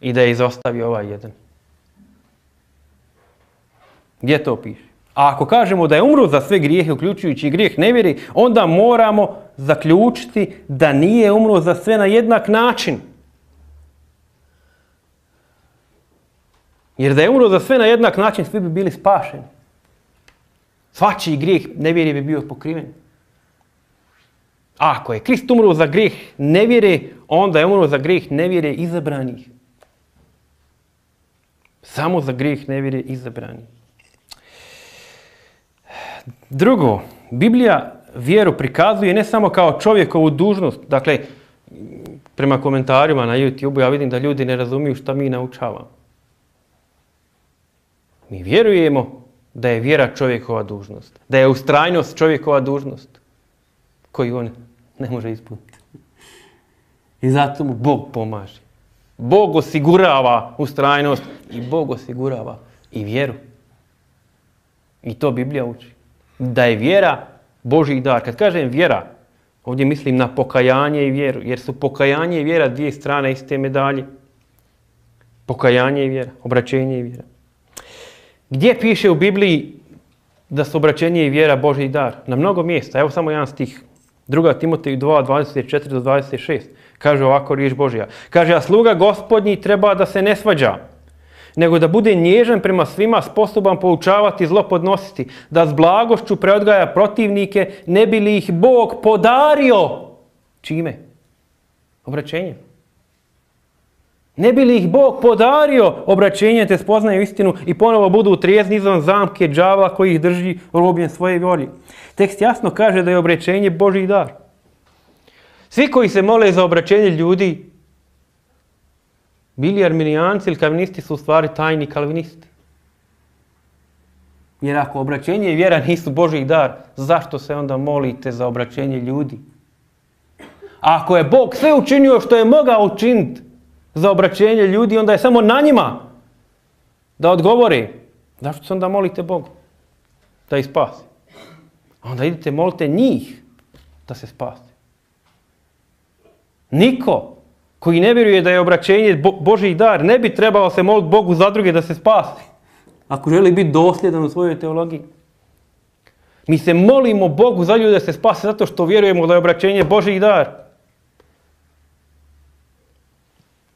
[SPEAKER 1] i da je izostavio ovaj jedan. Gdje to piše? A ako kažemo da je umro za sve grijehe, uključujući i grijeh nevjere, onda moramo zaključiti da nije umro za sve na jednak način. Jer da je umro za sve na jednak način, svi bi bili spašeni. Svačiji grijeh nevjere bi bio pokriven. A ako je Krist umro za grijeh nevjere, onda je umro za grijeh nevjere izabranih. Samo za grijeh nevjere izabranih. Drugo, Biblija vjeru prikazuje ne samo kao čovjekovu dužnost. Dakle, prema komentarima na YouTube ja vidim da ljudi ne razumiju šta mi naučavamo. Mi vjerujemo da je vjera čovjekova dužnost. Da je ustrajnost čovjekova dužnost koju on ne može ispuniti. I zato mu Bog pomaže. Bog osigurava ustrajnost i Bog osigurava i vjeru. I to Biblija uči. Da je vjera Božji dar. Kad kažem vjera, ovdje mislim na pokajanje i vjeru. Jer su pokajanje i vjera dvije strane iste medalje. Pokajanje i vjera. Obraćenje i vjera. Gdje piše u Bibliji da su obraćenje i vjera Božji dar? Na mnogo mjesta. Evo samo jedan stih. Druga Timoteju dva, dvadeset četiri do dvadeset šest. Kaže ovako riječ Božja. Kaže, a sluga Gospodnji treba da se ne svađa, nego da bude nježan prema svima, sposoban poučavati, zlo podnositi, da s blagošću preodgaja protivnike, ne bi li ih Bog podario. Čime? Obraćenjem. Ne bi li ih Bog podario obraćenje, te spoznaju istinu i ponovo budu trijezni izvan zamke đavla koji ih drži robljen svoje volje. Tekst jasno kaže da je obraćenje Božji dar. Svi koji se mole za obraćenje ljudi, bili arminijanci ili kalvinisti, su u stvari tajni kalvinisti. Jer ako obraćenje i vjera nisu Božji dar, zašto se onda molite za obraćenje ljudi? A ako je Bog sve učinio što je mogao učiniti za obraćenje ljudi, onda je samo na njima da odgovore. Zašto se onda molite Bogu? Da ih spasi. Onda idite, molite njih da se spasi. Niko koji ne vjeruje da je obraćenje Božji dar ne bi trebao se moliti Bogu za druge da se spasi. Ako želi biti dosljedan u svojoj teologiji. Mi se molimo Bogu za ljude da se spase zato što vjerujemo da je obraćenje Božji dar.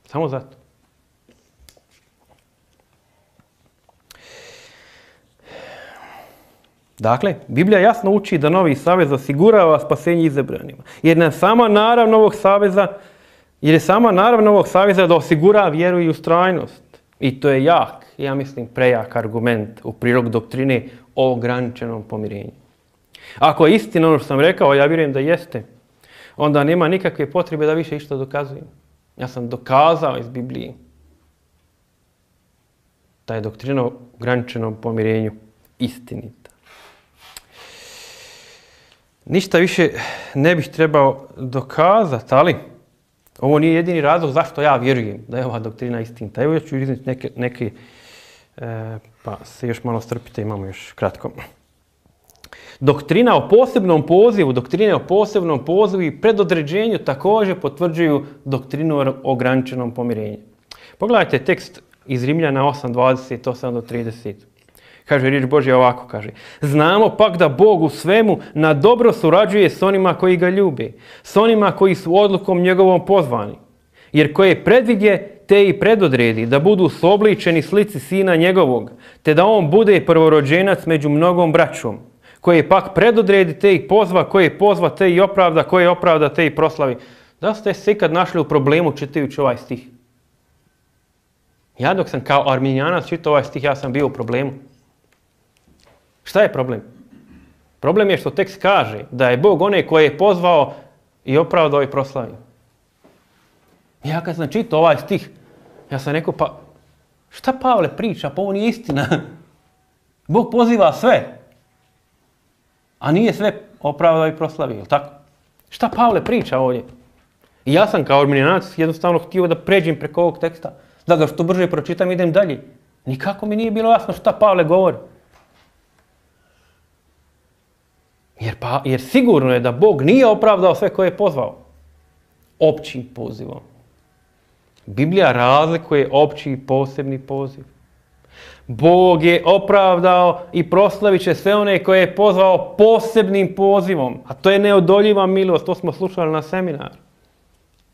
[SPEAKER 1] Samo zato. Dakle, Biblija jasno uči da novi savez osigurava spasenje izabranima. Jer nam sama narav novog saveza, jer je sama narav novog saveza da osigura vjeru i ustrajnost. I to je jak, ja mislim, prejak argument u prilog doktrine o ograničenom pomirenju. Ako je istina ono što sam rekao, ja vjerujem da jeste, onda nema nikakve potrebe da više išta dokazujem. Ja sam dokazao iz Biblije da je doktrina o ograničenom pomirenju istinita. Ništa više ne bih trebao dokazati, ali ovo nije jedini razlog zašto ja vjerujem da je ova doktrina istinita. Evo ja ću iznijeti neke, neke e, pa se još malo strpite, imamo još kratko. Doktrina o posebnom pozivu, doktrine o posebnom pozivu i predodređenju također potvrđuju doktrinu o ograničenom pomirenju. Pogledajte tekst iz Rimljana osam, dvadeset osam do trideset. Kaže riječ Božja ovako, kaže. Znamo pak da Bog u svemu na dobro surađuje s onima koji ga ljube, s onima koji su odlukom njegovom pozvani. Jer koje predvidje, te i predodredi da budu sobličeni slici sina njegovog, te da on bude prvorođenac među mnogom braćom. Koje pak predodredi, te ih pozva, koje pozva, te i opravda, koje opravda, te i proslavi. Da ste se ikad našli u problemu čitajući ovaj stih? Ja dok sam kao arminijanac čitao ovaj stih, ja sam bio u problemu. Šta je problem? Problem je što tekst kaže da je Bog onaj koji je pozvao i opravdao i proslavio. Ja kad sam čitao ovaj stih, ja sam rekao, pa šta Pavle priča, pa ovo nije istina. Bog poziva sve, a nije sve opravdao i proslavio, jel tako? Šta Pavle priča ovdje? I ja sam kao arminijanac jednostavno htio da pređem preko ovog teksta, da ga što brže pročitam i idem dalje. Nikako mi nije bilo jasno šta Pavle govori. Jer, pa, jer sigurno je da Bog nije opravdao sve koje je pozvao općim pozivom. Biblija razlikuje opći i posebni poziv. Bog je opravdao i proslavit će sve one koje je pozvao posebnim pozivom. A to je neodoljiva milost. To smo slušali na seminaru.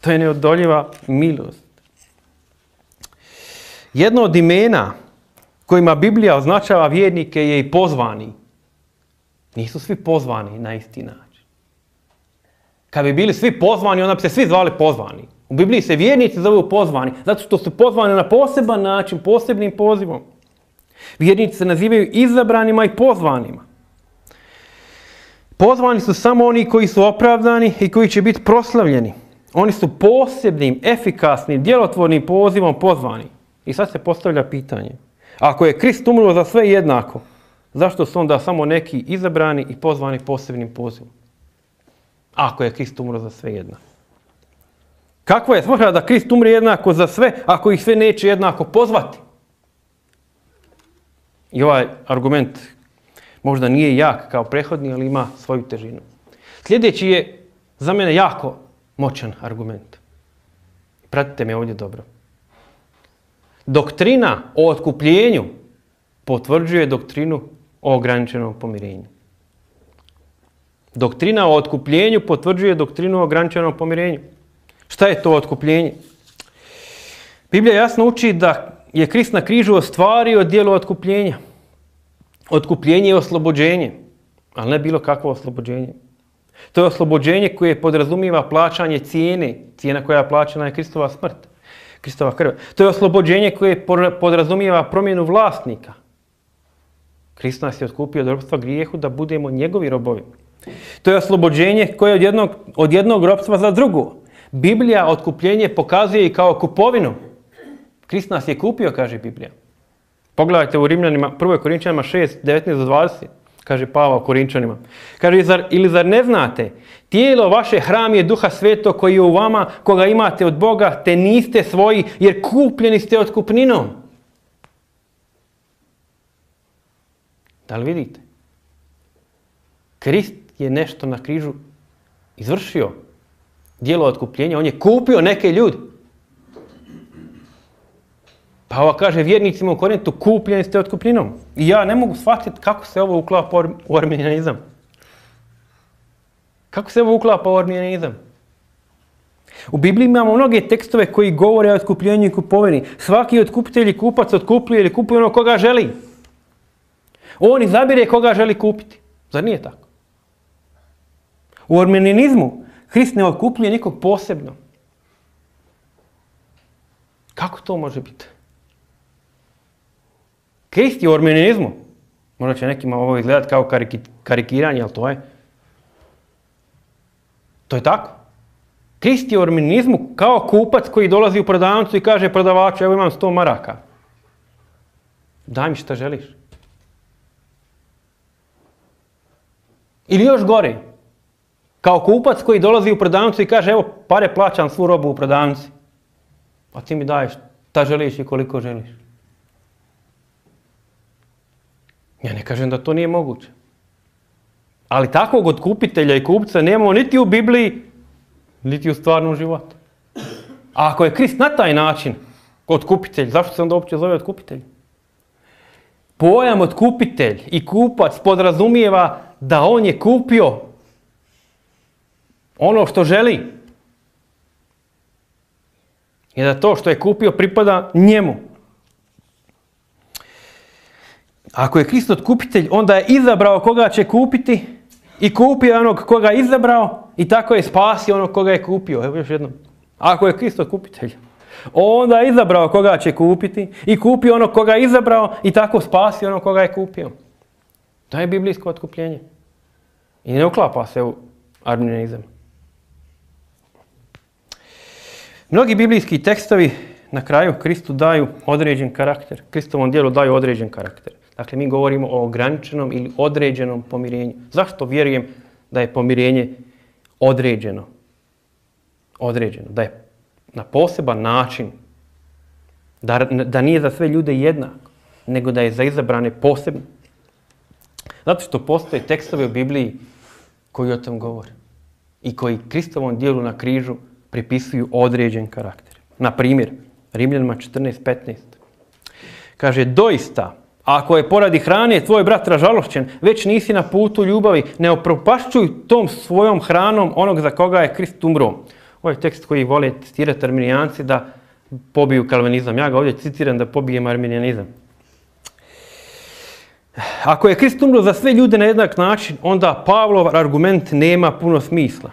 [SPEAKER 1] To je neodoljiva milost. Jedno od imena kojima Biblija označava vjernike je i pozvani. Nisu svi pozvani na isti način. Kad bi bili svi pozvani, onda bi se svi zvali pozvani. U Bibliji se vjernici zovu pozvani, zato što su pozvani na poseban način, posebnim pozivom. Vjernici se nazivaju izabranima i pozvanima. Pozvani su samo oni koji su opravdani i koji će biti proslavljeni. Oni su posebnim, efikasnim, djelotvornim pozivom pozvani. I sad se postavlja pitanje. Ako je Krist umro za sve jednako, zašto su onda samo neki izabrani i pozvani posebnim pozivom? Ako je Krist umro za sve jednako. Kakva je svrha da Krist umre jednako za sve, ako ih sve neće jednako pozvati? I ovaj argument možda nije jak kao prethodni, ali ima svoju težinu. Sljedeći je za mene jako moćan argument. Pratite me ovdje dobro. Doktrina o otkupljenju potvrđuje doktrinu o ograničenom pomirenju. Doktrina o otkupljenju potvrđuje doktrinu o ograničenom pomirenju. Šta je to otkupljenje? Biblija jasno uči da je Krist na križu ostvario djelo otkupljenja. Otkupljenje je oslobođenje, ali ne bilo kakvo oslobođenje. To je oslobođenje koje podrazumijeva plaćanje cijene, cijena koja je plaćena je Kristova smrt, Kristova krv. To je oslobođenje koje podrazumijeva promjenu vlasnika. Krist nas je otkupio od ropstva grijehu da budemo njegovi robovi. To je oslobođenje koje je od jednog, od jednog ropstva za drugo. Biblija otkupljenje pokazuje i kao kupovinu. Krist nas je kupio, kaže Biblija. Pogledajte u Rimljanima, prvoj Korinčanima šest, devetnaest do dvadeset, kaže Pavao Korinčanima. Kaže, zar, ili zar ne znate, tijelo vaše hram je Duha Svetog koji je u vama, koga imate od Boga, te niste svoji, jer kupljeni ste otkupninom. Da li vidite? Krist je nešto na križu izvršio. Djelo otkupljenja, on je kupio neke ljudi. Pa ovo kaže vjernicima u Korintu, kupljeni ste otkupninom. I ja ne mogu shvatiti kako se ovo uklapa u arminijanizam. Kako se ovo uklapa u arminijanizam? U Bibliji imamo mnoge tekstove koji govore o otkupljenju i kupovini. Svaki otkupitelj i kupac otkupljuje ili kupuje ono koga želi. On izabire koga želi kupiti. Zar nije tako? U arminijanizmu Krist ne otkupljuje nikog posebno. Kako to može biti? Krist je u arminijanizmu. Možda će nekima ovo izgledati kao karikiranje, ali to je. To je tako. Krist je u arminijanizmu kao kupac koji dolazi u prodavnicu i kaže prodavaču, evo imam sto maraka. Daj mi šta želiš. Ili još gore. Kao kupac koji dolazi u prodavnicu i kaže evo pare plaćam svu robu u prodavnici. A ti mi daješ šta želiš i koliko želiš. Ja ne kažem da to nije moguće. Ali takvog otkupitelja i kupca nemamo niti u Bibliji, niti u stvarnom životu. A ako je Krist na taj način otkupitelj, zašto se onda uopće zove otkupitelj? Pojam otkupitelj i kupac podrazumijeva da on je kupio ono što želi. I da to što je kupio pripada njemu. Ako je Krist otkupitelj, onda je izabrao koga će kupiti i kupio onog koga je izabrao i tako je spasio onog koga je kupio. Evo još jednom. Ako je Krist otkupitelj, Onda je izabrao koga će kupiti i kupio onog koga je izabrao i tako spasio onog koga je kupio. To je biblijsko otkupljenje. I ne uklapa se u arminijanizam. Mnogi biblijski tekstovi na kraju Kristu daju određen karakter. Kristovom djelu daju određen karakter. Dakle, mi govorimo o ograničenom ili određenom pomirenju. Zašto vjerujem da je pomirenje određeno? Određeno. Da je na poseban način. Da, da nije za sve ljude jednako, nego da je za izabrane posebno. Zato što postoje tekstovi u Bibliji koji o tom govore. I koji Kristovom djelu na križu pripisuju određen karakter. Na primjer, Rimljanima četrnaest petnaest. Kaže, doista, ako je poradi hrane tvoj brat ražalošćen, već nisi na putu ljubavi, ne opropašćuj tom svojom hranom onog za koga je Krist umro. Ovo je tekst koji vole citirati arminijanci da pobiju kalvinizam. Ja ga ovdje citiram da pobijem arminijanizam. Ako je Krist umro za sve ljude na jednak način, onda Pavlov argument nema puno smisla.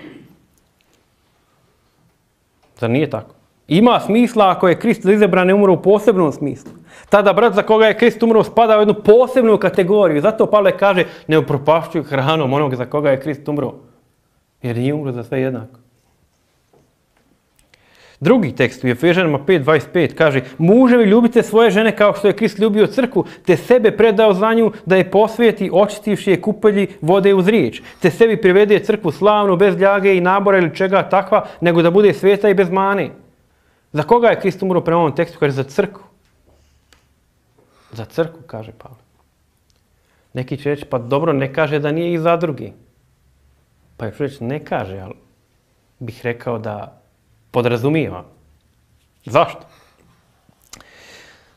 [SPEAKER 1] Zar nije tako? Ima smisla ako je Krist za izabrane umro u posebnom smislu. Tada brat za koga je Krist umro spada u jednu posebnu kategoriju. Zato Pavle kaže, ne upropašćuj hranom onog za koga je Krist umro. Jer nije umro za sve jednako. Drugi tekst u Efežanima pet dvadeset pet kaže, muževi ljubite svoje žene kao što je Krist ljubio crkvu, te sebe predao za nju da je posvijeti očistivši je kupelji vode uz riječ, te sebi privede crkvu slavnu, bez ljage i nabora ili čega takva, nego da bude sveta i bez mane. Za koga je Krist umro prema ovom tekstu? Kaže, za crkvu. Za crkvu, kaže Pavle. Neki će reći, pa dobro, ne kaže da nije i za drugi. Pa je reći, ne kaže, ali bih rekao da podrazumijeva. Zašto?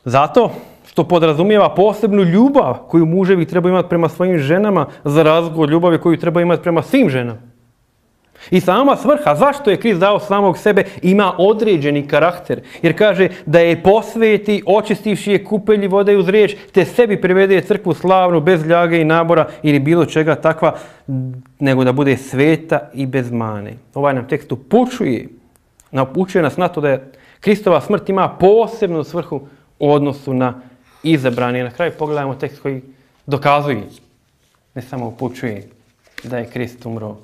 [SPEAKER 1] Zato što podrazumijeva posebnu ljubav koju muževi trebaju imati prema svojim ženama za razliku od ljubavi koju trebaju imati prema svim ženama. I sama svrha, zašto je Krist dao samog sebe, ima određeni karakter. Jer kaže da je posveti, očistivši je kupelji vode uz riječ, te sebi privede crkvu slavnu, bez ljage i nabora ili bilo čega takva, nego da bude sveta i bez mane. Ovaj nam tekst upućuje, upućuje nas na to da je Kristova smrt ima posebnu svrhu u odnosu na izabrane. I na kraju pogledajmo tekst koji dokazuje, ne samo upućuje, da je Krist umro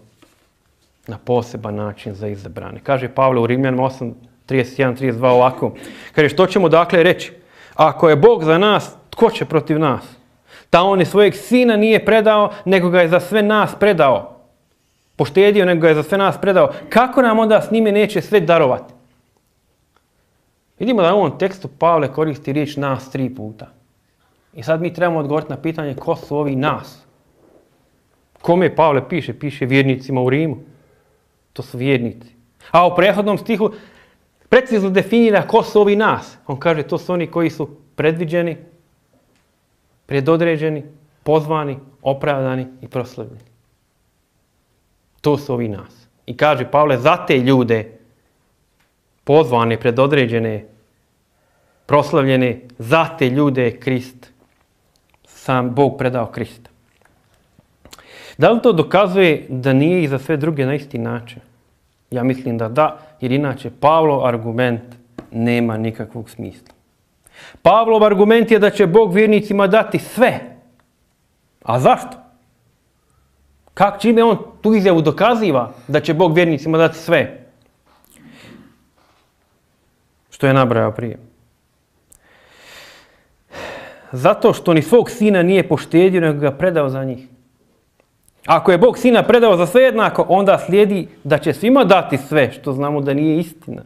[SPEAKER 1] na poseban način za izabrane. Kaže Pavle u Rimljanima osam trideset jedan trideset dva ovako. Kaže, što ćemo dakle reći? Ako je Bog za nas, tko će protiv nas? Ta on je svojeg sina nije predao, nego ga je za sve nas predao. Poštedio, nego ga je za sve nas predao. Kako nam onda s njime neće sve darovati? Vidimo da u ovom tekstu Pavle koristi riječ nas tri puta. I sad mi trebamo odgovoriti na pitanje ko su ovi nas. Kome Pavle piše? Piše vjernicima u Rimu. To su vjernici. A u prethodnom stihu precizno definira ko su ovi nas. On kaže to su oni koji su predviđeni, predodređeni, pozvani, opravdani i proslavljeni. To su ovi nas. I kaže Pavle, za te ljude pozvane, predodređene, proslavljene, za te ljude je Krist, sam Bog predao Krista. Da li to dokazuje da nije i za sve druge na isti način? Ja mislim da da, jer inače Pavlov argument nema nikakvog smisla. Pavlov argument je da će Bog vjernicima dati sve. A zašto? Kako čime on tu izjavu dokaziva da će Bog vjernicima dati sve? Što je nabrajao prije. Zato što ni svog sina nije poštedio, nego ga predao za njih. Ako je Bog sina predao za sve jednako, onda slijedi da će svima dati sve, što znamo da nije istina.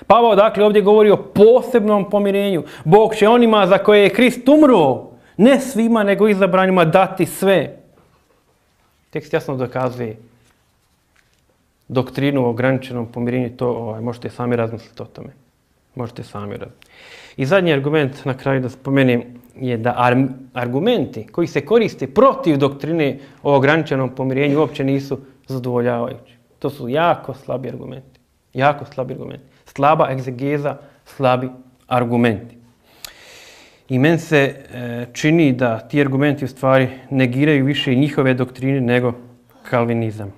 [SPEAKER 1] Pavao dakle ovdje govori o posebnom pomirenju. Bog će onima za koje je Krist umro, ne svima nego izabranima dati sve. Tekst jasno dokazuje doktrinu o ograničenom pomirenju, to ovaj, možete sami razmisliti o tome. Možete sami razmisliti. I zadnji argument na kraju da spomenem je da ar argumenti koji se koriste protiv doktrine o ograničenom pomirenju uopće nisu zadovoljavajući. To su jako slabi argumenti. Jako slabi argumenti. Slaba egzegeza, slabi argumenti. I meni se e, čini da ti argumenti u stvari negiraju više njihove doktrine nego kalvinizam.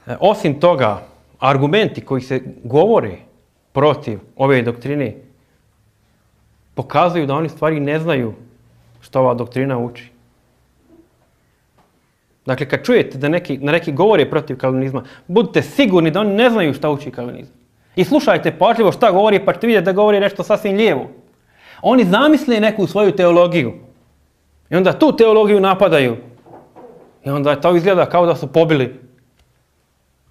[SPEAKER 1] E, osim toga, argumenti koji se govore protiv ove doktrine pokazuju da oni stvari ne znaju što ova doktrina uči. Dakle, kad čujete da neki, na neki govore protiv kalvinizma, budite sigurni da oni ne znaju šta uči kalvinizam. I slušajte pažljivo šta govori, pa ćete vidjeti da govori nešto sasvim lijevo. Oni zamisle neku svoju teologiju. I onda tu teologiju napadaju. I onda to izgleda kao da su pobili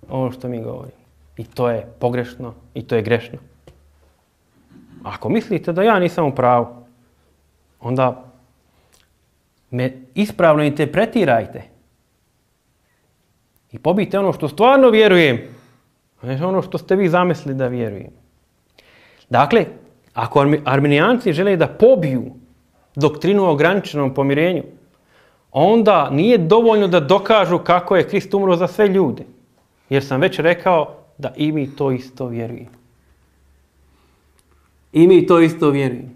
[SPEAKER 1] ono što mi govorimo. I to je pogrešno i to je grešno. Ako mislite da ja nisam u pravu, onda me ispravno interpretirajte. I pobijte ono što stvarno vjerujem, a ne ono što ste vi zamislili da vjerujem. Dakle, ako arminijanci žele da pobiju doktrinu o ograničenom pomirenju, onda nije dovoljno da dokažu kako je Krist umro za sve ljude. Jer sam već rekao da i mi to isto vjerujemo. I mi to isto vjerujemo.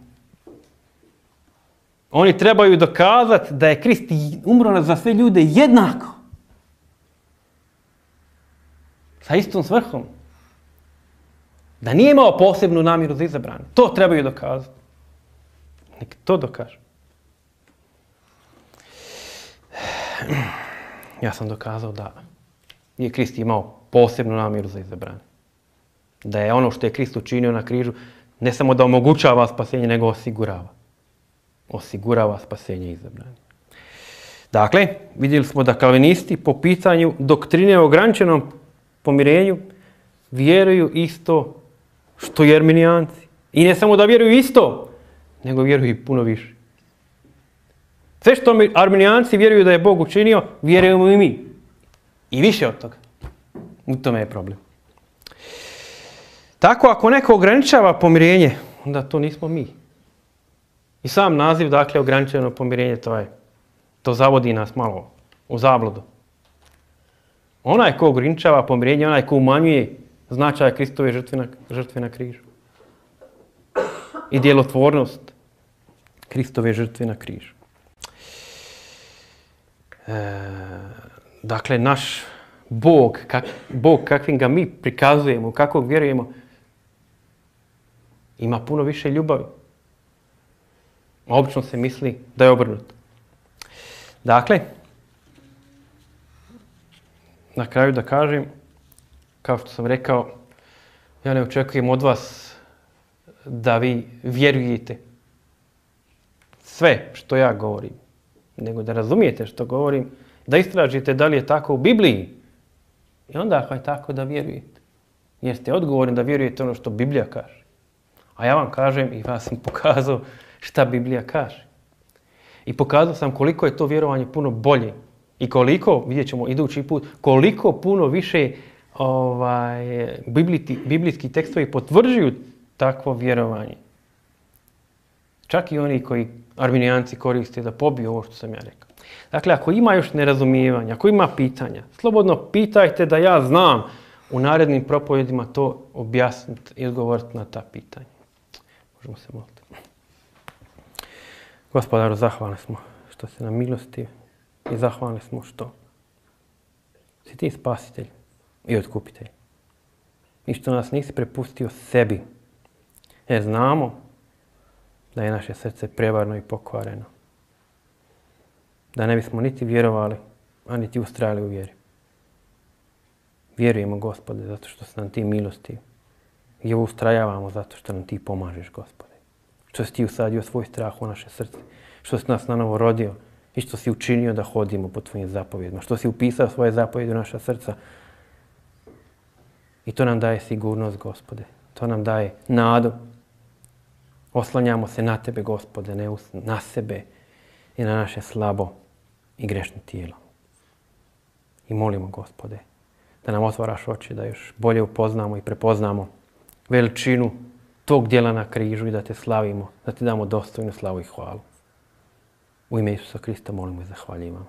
[SPEAKER 1] Oni trebaju dokazati da je Krist umro za sve ljude jednako. Sa istom svrhom. Da nije imao posebnu namjeru za izabrane. To trebaju dokazati. Nek to dokažu. Ja sam dokazao da je Krist imao posebnu namjeru za izabrane. Da je ono što je Krist učinio na križu ne samo da omogućava spasenje, nego osigurava. Osigurava spasenje izabrane. Dakle, vidjeli smo da kalvinisti po pitanju doktrine o ograničenom pomirenju vjeruju isto što i arminijanci. I ne samo da vjeruju isto, nego vjeruju i puno više. Sve što arminijanci vjeruju da je Bog učinio, vjerujemo i mi. I više od toga. U tome je problem. Tako, ako neko ograničava pomirenje, onda to nismo mi. I sam naziv, dakle, ograničeno pomirenje, to je, to zavodi nas malo u zabludu. Onaj ko ograničava pomirenje, onaj ko umanjuje značaj Kristove žrtve na, žrtve na križu. I djelotvornost Kristove žrtve na križu. E, dakle, naš Bog, kak, Bog kakvim ga mi prikazujemo, kakvog vjerujemo, ima puno više ljubavi. Obično se misli da je obrnuto. Dakle, na kraju da kažem, kao što sam rekao, ja ne očekujem od vas da vi vjerujete sve što ja govorim, nego da razumijete što govorim, da istražite da li je tako u Bibliji i onda ako je tako da vjerujete. Jer ste odgovorni da vjerujete ono što Biblija kaže. A ja vam kažem i vas sam pokazao šta Biblija kaže. I pokazao sam koliko je to vjerovanje puno bolje i koliko, vidjet ćemo idući put, koliko puno više ovaj, bibliti, biblijski tekstovi potvrđuju takvo vjerovanje. Čak i oni koji arminijanci koriste da pobiju ovo što sam ja rekao. Dakle, ako ima još nerazumijevanja, ako ima pitanja, slobodno pitajte da ja znam u narednim propovedima to objasniti i odgovoriti na ta pitanja. Možemo se moliti. Gospodaru, zahvalni smo što si nam milosti i zahvalni smo što si ti spasitelj i otkupitelj. I što nas nisi prepustio sebi. Jer znamo da je naše srce prevarno i pokvareno. Da ne bismo niti vjerovali, a niti ustrajali u vjeri. Vjerujemo, Gospode, zato što si nam ti milosti. I ustrajavamo zato što nam ti pomažeš, Gospode. Što si ti usadio svoj strah u naše srce. Što si nas nanovo rodio i što si učinio da hodimo po tvojim zapovjedima. Što si upisao svoje zapovjede u naša srca. I to nam daje sigurnost, Gospode. To nam daje nadu. Oslanjamo se na tebe, Gospode, ne na sebe i na naše slabo i grešno tijelo. I molimo, Gospode, da nam otvaraš oči, da još bolje upoznamo i prepoznamo veličinu tog djela na križu i da te slavimo, da ti damo dostojnu slavu i hvalu. U ime Isusa Krista molimo i zahvaljujemo.